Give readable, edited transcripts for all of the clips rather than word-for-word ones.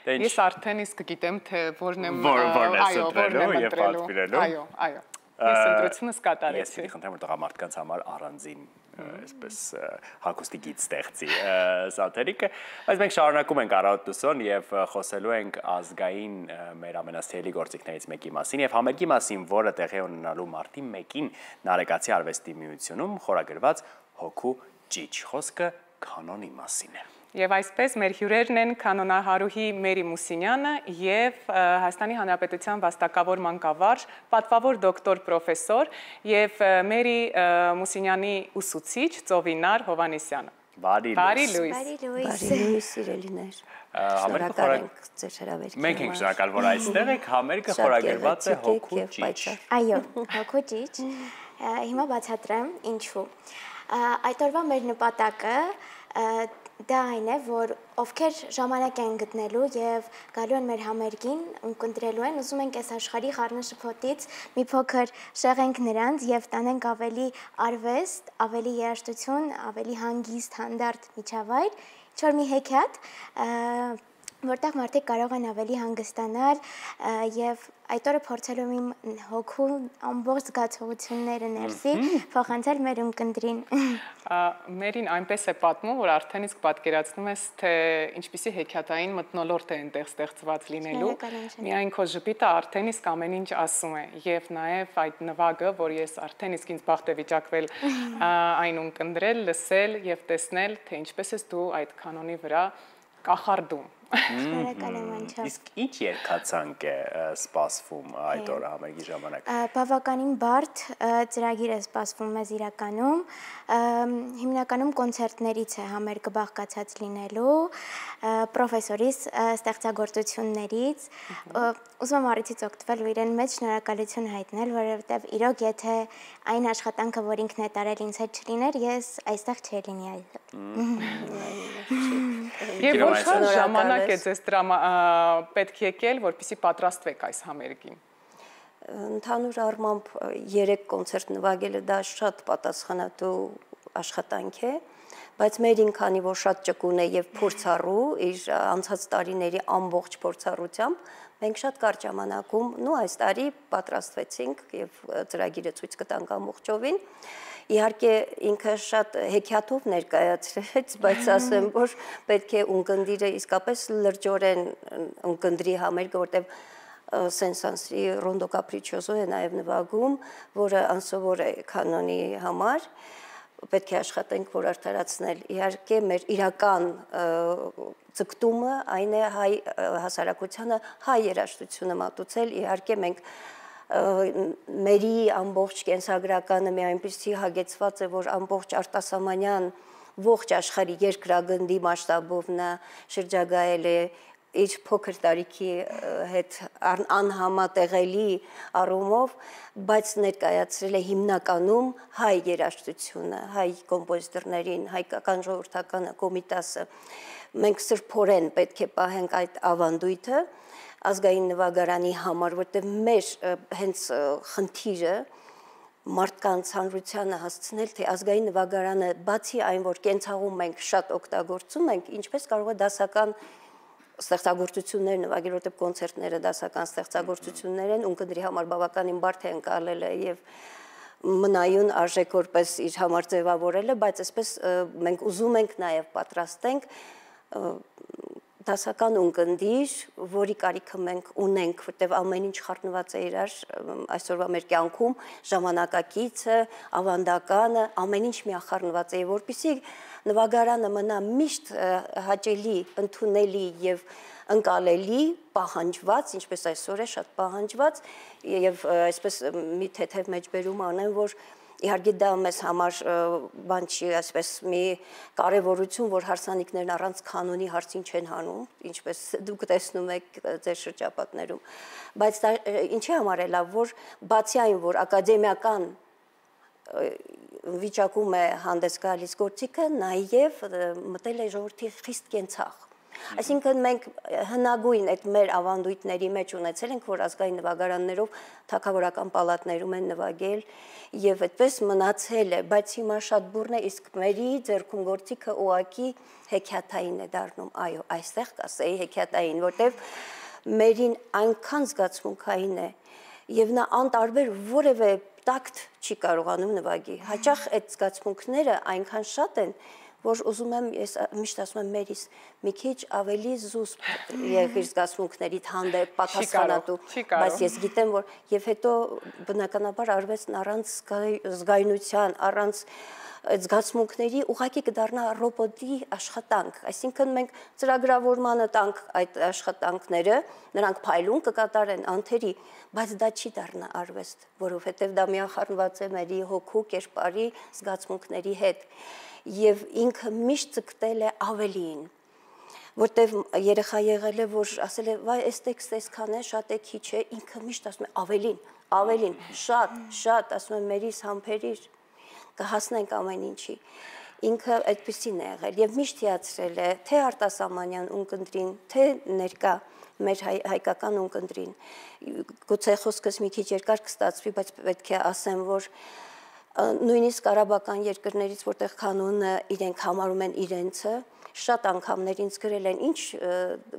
Ես արդեն իսկ գիտեմ, թե որն եմ ընտրելու։ Այո, այո։ Ես ընտրությունս կատարեցի։ Ես պիտի խնդրեմ, որ տղամարդկանց համար առանձին այսպես հագուստի գիծ ստեղծի սատերիկը, բայց մենք շարունակում ենք Առավոտուսոն եւ խոսելու ենք ազգային մեր ամենասիրելի գործիքներից մեկի մասին եւ համերգի մասին, որը տեղի ունենալու մարտի 1-ին Նարեկացի արվեստի միությունում խորագրված Հոգու ճիչ, խոսքը կանոնի մասին է։ Եվ այսպես մեր հյուրերն են կանոնահարուհի Մերի Մուսինյանը և Հայաստանի Հանրապետության վաստակավոր մանկավարժ, պատվավոր դոկտոր պրոֆեսոր և Մերի Մուսինյանի ուսուցիչ Ծովինար Հովանեսյանը։ Բարի լույս, սիրելիներ։ Շնորհակալ ենք ձեր հրավերին։ Մենք ենք շնորհակալ, որ այստեղ եք, համերգը խորագրված է Հոգու ճիչ։ Այո, Հոգու ճիչ։ Հիմա բացատրեմ ինչու։ Այդ օրվա մեր նպատակը դա այն է, որ ովքեր ժամանակ են գտնելու և գալու են մեր համերգին, ընկընտրելու են, ուզում ենք այս աշխարհի խառնաշփոթից մի փոքր շեղենք նրանց և տանենք ավելի արվեստ, ավելի երաժշտություն, ավելի հանգիստ, հանդարտ միջավայր, ինչ-որ մի հեքիաթ, որտեղ մարդիկ կարող են ավելի հանգստանալ և այդ օրը փորձելու իմ հոգու ամբողջ զգացողությունները ներսի փոխանցել մեր ունկնդրին։ Մերին այնպես է պատմում, որ արդեն իսկ պատկերացնում ես, թե ինչպիսի հեքիաթային մթնոլորտ է այնտեղ ստեղծված լինելու, միայն քո ժպիտը արդեն իսկ ամեն ինչ ասում է և նաև այդ նվագը, որ ես արդեն իսկ ինձ բախտ է վիճակվել այն ունկնդրել, լսել և տեսնել, թե ինչպես ես դու այդ կանոնի վրա կախարդում։ Իսկ ինչ երգացանք է սպասվում այդ օրը համերգի ժամանակ։ Բավականին բարդ ծրագիր է սպասվում մեզ իրականում, հիմնականում կոնցերտներից է համերգը բաղկացած լինելու, պրոֆեսորիս ստեղծագործություններից, ուզում եմ առիթից օգտվել ու իրեն մեծ շնորհակալություն հայտնել, որովհետև իրոք եթե այն աշխատանքը, որ ինքն է տարել ինձ հետ չլիներ, ես այստեղ չէի լինի Եվ որ շատ ժամանակ է ձեզ պետք եկել, որպեսզի պատրաստվեք այս համերգին։ Ընդհանուր առմամբ 3 կոնցերտ նվագելը դա շատ պատասխանատու աշխատանք է, բայց մերին քանի որ շատ ճկուն է եւ փորձառու իր անցած տարիների ամբողջ փորձառությամբ, մենք շատ կարճ ժամանակում այս տարի պատրաստվեցինք եւ ծրագիրը ցույց կտանք ամբողջովին։ Իհարկե ինքը շատ հեքիաթով ներկայացրեց, բայց ասեմ, որ պետք է ունկնդիրը իսկապես լրջորեն ունկնդրի համերգը, որտեղ Սեն-Սանսի Ռոնդո Կապրիչոզո է նաև նվագում, որը անսովոր է կանոնի համար, պետք է աշխատենք, որ արդարացնել։ Իհարկե մեր իրական ձգտումը այն է հայ հասարակությանը հայ երաժշտությունը մատուցել, իհարկե մենք մերի ամբողջ կենսագրականը մի այնպիսի հագեցված է, որ ամբողջ արտասահմանյան ողջ աշխարհի երկրագնդի մասշտաբով նա շրջագայել է իր փոքր տարիքի հետ անհամատեղելի առումով, բայց ներկայացրել է հիմնականում հայ երաժշտությունը, հայ կոմպոզիտորներին, հայկական ժողովրդականը, Կոմիտասը։ Մենք սրբորեն պետք է պահենք այդ ավանդույթը ազգային նվագարանի համար, որտեղ մեր հենց խնդիրը մարդկանց հանրությանը հասցնել, թե ազգային նվագարանը բացի այն, որ կենցաղում մենք շատ օգտագործում ենք, ինչպես կարող է դասական ստեղծագործություններ նվագել, որտեղ կոնցերտները դասական ստեղծագործություններ են, ունկնդրի համար բավականին բարդ է ընկալելը եւ մնայուն արժեք որպես իր համար ձևավորելը, բայց այսպես մենք ուզում ենք նաեւ պատրաստենք դասական ունկնդիր, որի կարիքը մենք ունենք, որտեղ ամեն ինչ խառնված է իրար այսօրվա մեր կյանքում, ժամանակակիցը, ավանդականը, ամեն ինչ միախառնված է, որպեսզի նվագարանը մնա միշտ հաճելի, ընդունելի եւ ընկալելի, պահանջված, ինչպես այսօր է շատ պահանջված, եւ այսպես մի թեթև մեջբերում անեմ, որ իհարկե դա մեզ համար բան չի, այսպես մի կարևորություն, որ հարսանիքներն առանց կանոնի հարցին չեն հանում, ինչպես դուք տեսնում եք ձեր շրջապատներում, բայց դա ինչի համար է լավ, որ բացի այն, որ ակադեմիական վիճակում է հանդես գալիս գործիքը, նաև մտել է ժողովրդի խիստ կենցաղ, Այսինքն մենք հնագույն այդ մեր ավանդույթների մեջ ունեցել ենք, որ ազգային նվագարաններով թագավորական պալատներում են նվագել եւ այդպես մնացել է, բայց հիմա շատ բուրն է, իսկ մերի ձեռքում գործիքը ուղակի հեքիաթային է դառնում, այո, այստեղ կասեի հեքիաթային, որտեվ մերին այնքան զգացմունքային է եւ նա անտարբեր որևէ տակտ չի կարողանում նվագի։ Հաճախ այդ զգացմունքները այնքան շատ են, որ ուզում եմ, ես միշտ ասում եմ մերիս, մի քիչ ավելի զուսպ եղիր զգացմունքներիդ հանդեպ պատասխանատու, բայց ես գիտեմ, որ եւ հետո բնականաբար արվեստն առանց զգայունության, առանց զգացմունքների ուղղակի կդառնա ռոբոտի աշխատանք, այսինքն մենք ծրագրավորմանը տանք այդ աշխատանքները, նրանք փայլուն կկատարեն անթերի, բայց դա չի դառնա արվեստ, որովհետև դա միախառնված է մերի հոգու, կերպարի, զգացմունքների հետ, եւ ինքը միշտ ձգտել է ավելիին, որտեվ երեխա եղել է, որ ասել է, վայ, այս տեքստը այսքան է, շատ է, քիչ է, ինքը միշտ ասում է ավելին, շատ, ասում եմ մերիս համբերիր, կհասնենք ամեն ինչի, ինքը այդպեսին է եղել եւ միշտ հիացրել է թե արտասահմանյան ունկնդրին, թե ներկա մեր հայկական ունկնդրին, գուցե խոսքս մի քիչ երկար կստացվի, բայց պետք է ասեմ, որ նույնիսկ արաբական երկրներից, որտեղ կանոնը իրենք համարում են իրենցը, շատ անգամներ ինձ գրել են, ինչ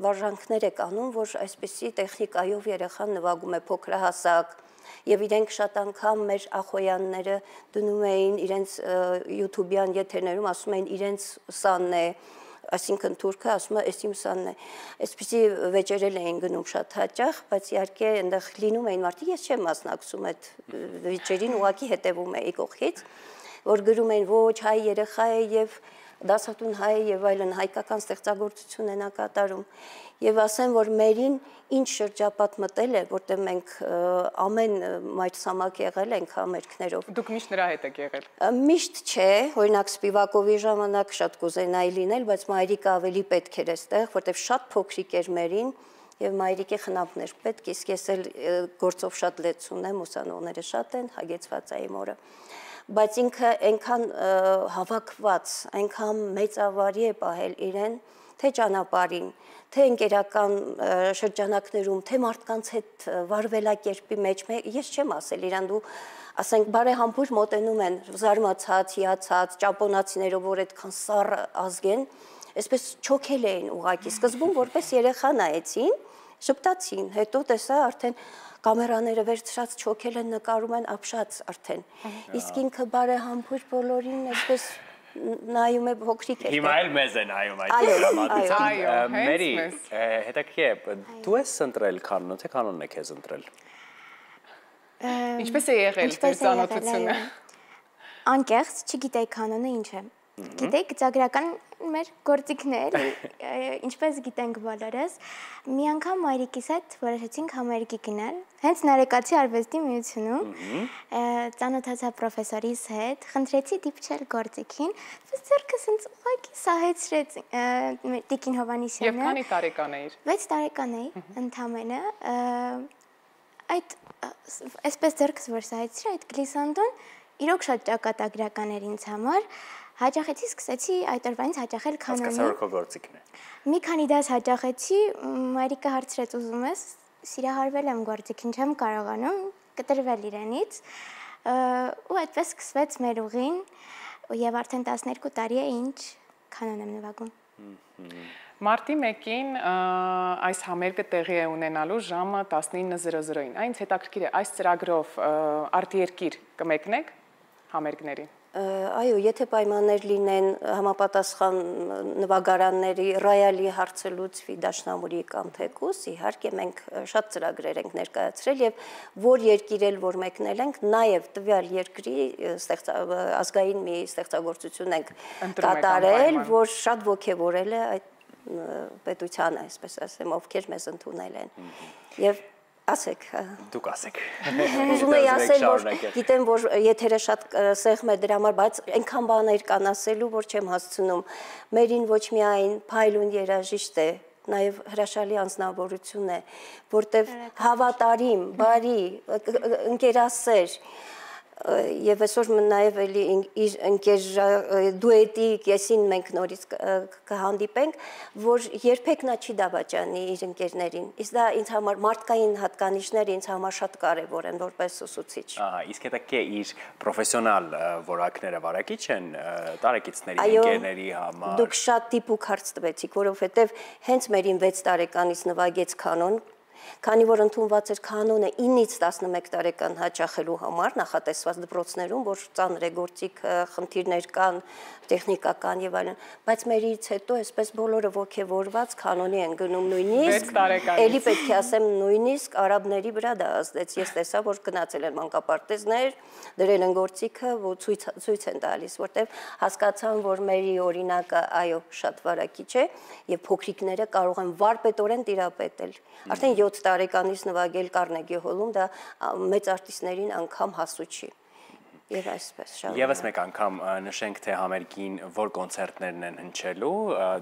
վարժանքներ է կանում, որ այսպեսի տեխնիկայով երեխան նվագում է փոքրահասակ, եւ իրենք շատ անգամ մեր ախոյանները դնում էին իրենց YouTube-յան եթերներում, ասում էին իրենց սանն է, այսինքն թուրքը ասում է էս իմ սանն է, այսպեսի վեճերել էին գնում շատ հաճախ, բայց իհարկե այնտեղ լինում էին մարդիկ, ես չեմ մասնակցում այդ վեճերին, ուղղակի հետևում էի կողքից, որ գրում էին ոչ հայ երեխա է եւ դասատուն հայ եւ այլն հայկական ստեղծագործություն են կատարում եւ ասեմ, որ մերին ինչ շրջապատ մտել է, որտեղ մենք ամեն մայրցամաք եղել ենք համերգներով։ Դուք միշտ նրա հետ եք եղել։ Միշտ չէ, օրինակ Սպիվակովի ժամանակ շատ կուզենայի լինել, բայց մայրիկը ավելի պետք էր այստեղ, որտեղ շատ փոքրիկ էր մերին եւ մայրիկի խնամքներ պետք, իսկ ես էլ գործով շատ լեծ ունեմ, ուսանողները շատ են, հագեցված է իմ օրը։ Բայց ինքը այնքան հավաքված, այնքան մեծավարի է պահել իրեն, թե ճանապարհին, թե ընկերական շրջանակներում, թե մարդկանց հետ վարվելակերպի մեջ, ես չեմ ասել իրան, դու ասենք բարեհամբույր մոտենում են զարմացած, հիացած, ճապոնացիներով, որ այդքան սառ ազգ են, այսպես չոքել էին ուղակի, սկզբում որպես երեխա նայեցին, շփտացին, հետո տեսա արդեն կամերաները վերցրած չոքել են, նկարում են ապշած արդեն, իսկ ինքը բարեհամբույր բոլորին այսպես նայում է փոքրիկ է։ Հիմա էլ մեզ է նայում այդ դրամատիկան։ Մերի, հետաքրքիր է, դու ես ընտրել կանոնը, թե կանոնն է քեզ ընտրել։ Ինչպես է եղել ծանոթությունը։ Անկեղծ, չգիտեի կանոնը ինչ է։ Գիտեի գծագրական մեր գործիքներ, ինչպես գիտենք բոլորս, մի անգամ մայրիկիս հետ որոշեցինք համերգի գնալ, հենց Նարեկացի արվեստի միությունում, ծանոթացա պրոֆեսորիս հետ, խնդրեցի դիպչել գործիքին, ձեռքս ինձ ուղղակի սահեցրեց Տիկին Հովհաննիսյանը։ Եվ քանի տարեկան էիր։ 6 տարեկան էի, ընդամենը, այդ այսպես ձեռքս որ սահեցրի, այդ գլիսանդոն իրոք շատ ճակատագրական էր ինձ համար, հաճախեցի, սկսեցի այդ օրվանից հաճախել կանոնին։ Հասկացա, որ քո գործիքն է։ Մի քանի դաս հաճախեցի, մայրիկը հարցրեց ուզում ես, սիրահարվել եմ գործիքին, չեմ կարողանում, կտրվել իրենից, ու այդպես սկսվեց մեր ուղին, եւ արդեն 12 տարի է ինչ կանոն եմ նվագում։ Մարտի 1-ին այս համերգը տեղի է ունենալու ժամը 19:00-ին։ Այնց հետաքրքիր է, այս ծրագրով արտերկիր կմեկնեք համերգներին։ Այո, եթե պայմաններ լինեն համապատասխան նվագարանների ռայալի հարցը լուծվի Դաշնամուրի կամ թեկուս, իհարկե մենք շատ ծրագրեր ենք ներկայացրել եւ որ երկիր էլ որ մեկնել ենք, նաեւ տվյալ երկրի ազգային մի ստեղծագործություն ենք կատարել, որ շատ ոգևորել է այդ պետությանը, այսպես ասեմ, ովքեր մեզ ընդունել են։ Եվ ասեք։ Դուք ասեք։ Ուզում եի ասել, որ գիտեմ, որ եթերը շատ սեղմ է դրա համար, բայց այնքան բաներ կան ասելու, որ չեմ հասցնում։ Մերին ոչ միայն փայլուն երաժիշտ է, նաև հրաշալի անձնավորություն է, որտեղ հավատարիմ, բարի, ընկերասեր, Եվ այսօր նաև էլի իր ընկեր դուետի կեսին մենք նորից կհանդիպենք, որ երբեք նա չի դավաճանի իր ընկերներին։ Իսկ դա ինձ համար մարդկային հատկանիշները ինձ համար շատ կարևոր են որպես ուսուցիչ։ Ահա, իսկ հետո կե իր պրոֆեսիոնալ որակները վարակիչ են տարեկիցների ընկերների համար։ Դուք շատ դիպուկ հարց տվեցիք, որովհետև հենց մերին 6 տարեկանից նվագեց կանոն, քանի որ ընդունված էր կանոնը 9-ից 11 տարեկան հաճախելու համար նախատեսված դպրոցներում, որ ծանր է գործիք խնդիրներ կան, տեխնիկական եւ այլն, բայց մերից հետո այսպես բոլորը ոգևորված կանոնի են գնում նույնիսկ, էլի պետք է ասեմ նույնիսկ արաբների վրա դա ազդեց, ես տեսա, որ գնացել են մանկապարտեզներ, դրել են գործիքը, որ ցույց են տալիս, որտեվ հասկացան, որ մերի օրինակը այո շատ վարակիչ է եւ փոքրիկները կարող են վարպետորեն տիրապետել։ Արդեն 7 տարեկանից նվագել Կարնեգի հոլում դա մեծ արտիստներին անգամ հասու չի։ Եվ այսպես շարունակ։ Եվս մեկ անգամ նշենք, թե համերգին որ կոնցերտներն են հնչելու,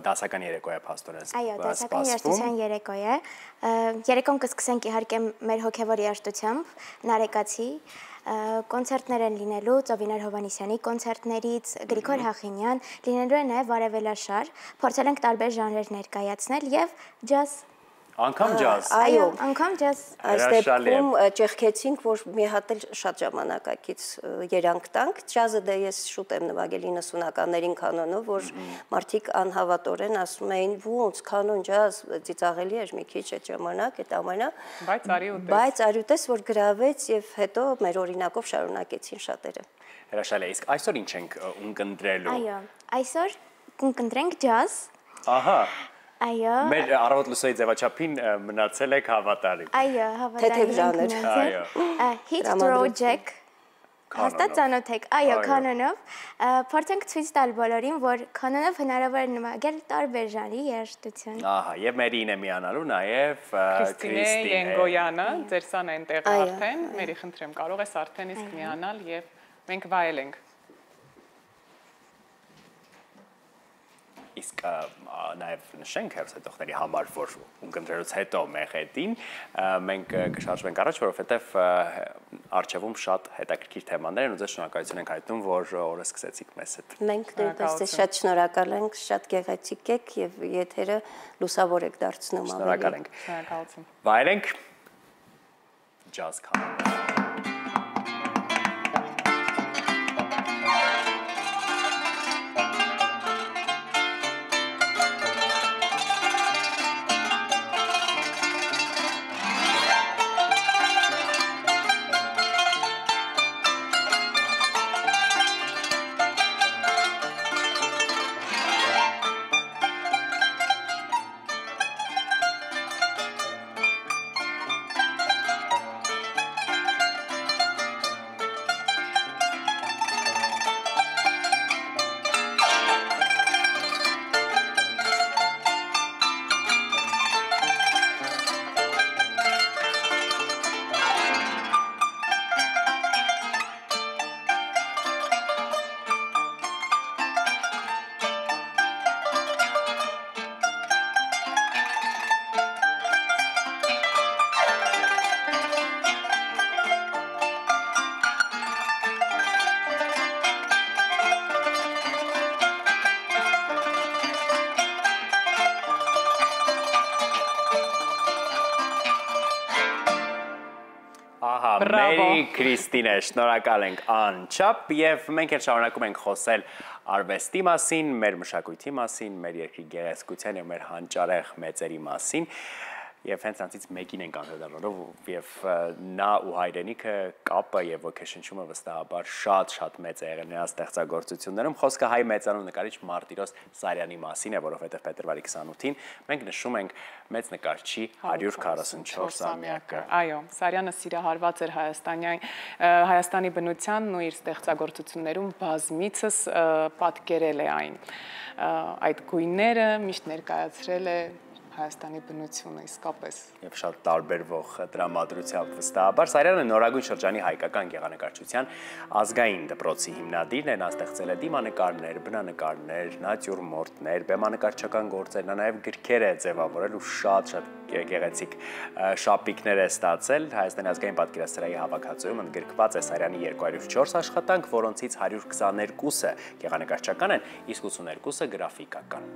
դասական երեկո է փաստորեն սպասվում։ Այո, դասական երաժշտության երեկո է։ Երեկոն կսկսենք իհարկե մեր հոգևոր երաժշտությամբ, Նարեկացի, կոնցերտներ են լինելու Ծովինար Հովանեսյանի կոնցերտներից, Գրիգոր Հախինյան, լինելու է նաև վարևելաշար, փորձել ենք տարբեր ժանրեր ներկայացնել եւ ջազ Անկամ ջազ։ Այո, անգամ ջազ։ Այս դեպքում ճեղքեցինք, որ մի հատ էլ շատ ժամանակակից երանգ տանք։ Ջազը դե ես շուտ եմ նվագել 90-ականներին կանոնով, որ մարդիկ անհավատորեն ասում էին՝ «Ոնց կանոն ջազ ծիծաղելի էր մի քիչ այդ ժամանակ, այդ ամենը»։ Բայց արյուտես որ գրավեց եւ հետո մեր օրինակով շարունակեցին շատերը։ Հրաշալի է, իսկ այսօր ինչ ենք ունկնդրելու։ Այո, այսօր կընտրենք ջազ։ Ահա։ Այո։ Մեր առավոտ լուսոյի ձևաչափին մնացել եք հավատարիմ։ Այո, հավատարիմ։ Թեթև ժանր։ Այո։ Hit Project։ Հաստատ ծանոթ եք, այո, կանոնով։ Փորձենք ցույց տալ բոլորին, որ կանոնով հնարավոր է նվագել տարբեր ժանրի երաժշտություն։ Ահա, եւ մերին է միանալու նաեւ Քրիստինե Ենգոյանը, ձեր սան այնտեղ արդեն, մերի խնդրեմ, կարող ես արդեն իսկ միանալ եւ մենք վայելենք։ Իսկ նաև նշենք հերոսետողների համար, որ ունկնդրելուց հետո մեղեդին մենք կշարժվենք առաջ, որովհետև առջևում շատ հետաքրքիր թեմաներ են ու ձեզ շնորհակալություն ենք հայտնում, որ օրը սկսեցիք մեզ հետ։ Մենք նույնպես ձեզ շատ շնորհակալ ենք, շատ գեղեցիկ եք եւ եթերը լուսավոր եք դարձնում ավելի։ Շնորհակալ ենք։ Շնորհակալություն։ Վայելենք ջազ կանոն։ Մերի Քրիստինե, շնորհակալ ենք անչափ եւ մենք էլ շարունակում ենք խոսել արվեստի մասին, մեր մշակույթի մասին, մեր երկրի գեղեցկության եւ մեր հանճարեղ մեծերի մասին եւ հենց անցից մեկին ենք անդրադառնալով եւ նա ու հայրենիքը կապը եւ ոգեշնչումը վստահաբար շատ մեծ է եղել նրա ստեղծագործություններում խոսքը հայ մեծանուն նկարիչ Մարտիրոս Սարյանի մասին է, որովհետեւ փետրվարի 28-ին մենք նշում ենք մեծ նկարչի 144-ամյակը։ Այո, Սարյանը սիրահարված էր Հայաստանի բնությանն ու իր ստեղծագործություններում բազմիցս պատկերել է այն։ Այդ գույները միշտ ներկայացրել է Հայաստանի բնությունը իսկապես եւ շատ տարբերվող դրամատրությամբ վստահաբար Սարյանը նորագույն շրջանի հայկական գեղանկարչության ազգային դպրոցի հիմնադիրն է, նա ստեղծել է դիմանկարներ, բնանկարներ, նատյուրմորտներ, բեմանկարչական գործեր, նա նաեւ գրքեր է ձևավորել ու շատ գեղեցիկ շապիկներ է ստացել Հայաստանի ազգային պատկերասրահի հավաքածուում ընդգրկված է Սարյանի 204 աշխատանք, որոնցից 122-ը գեղանկարչական են, իսկ 82-ը գրաֆիկական։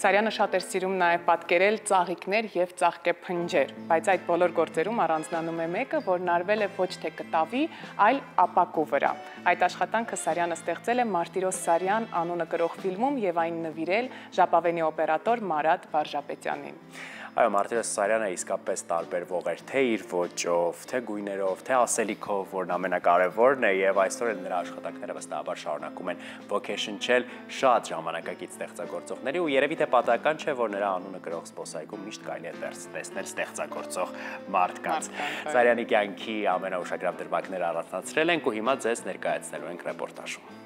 Սարյանը շատ էր սիրում նաև պատկերել ծաղիկներ եւ ծաղկե փնջեր, բայց այդ բոլոր գործերում առանձնանում է մեկը, որն արվել է ոչ թե կտավի, այլ ապակու վրա։ Այդ աշխատանքը Սարյանը ստեղծել է Մարտիրոս Սարյան անունը կրող ֆիլմում եւ այն նվիրել ժապավենի օպերատոր Մարատ Վարժապետյանին։ Այո, Մարտիրոս Սարյանը իսկապես տարբերվող էր թե իր ոճով, թե գույներով, թե ասելիքով, որն ամենակարևորն է եւ այսօր էլ նրա աշխատանքները վստահաբար շարունակում են ոգեշնչել շատ ժամանակակից ստեղծագործողների ու երևի թե պատահական չէ, որ նրա անունը կրող զբոսայգում միշտ կարելի է տեսնել ստեղծագործող մարդկանց։ Սարյանի կյանքի ամենաուշագրավ դրվագները առանձնացրել ենք ու հիմա ձեզ ներկայացնելու ենք ռեպորտաժում։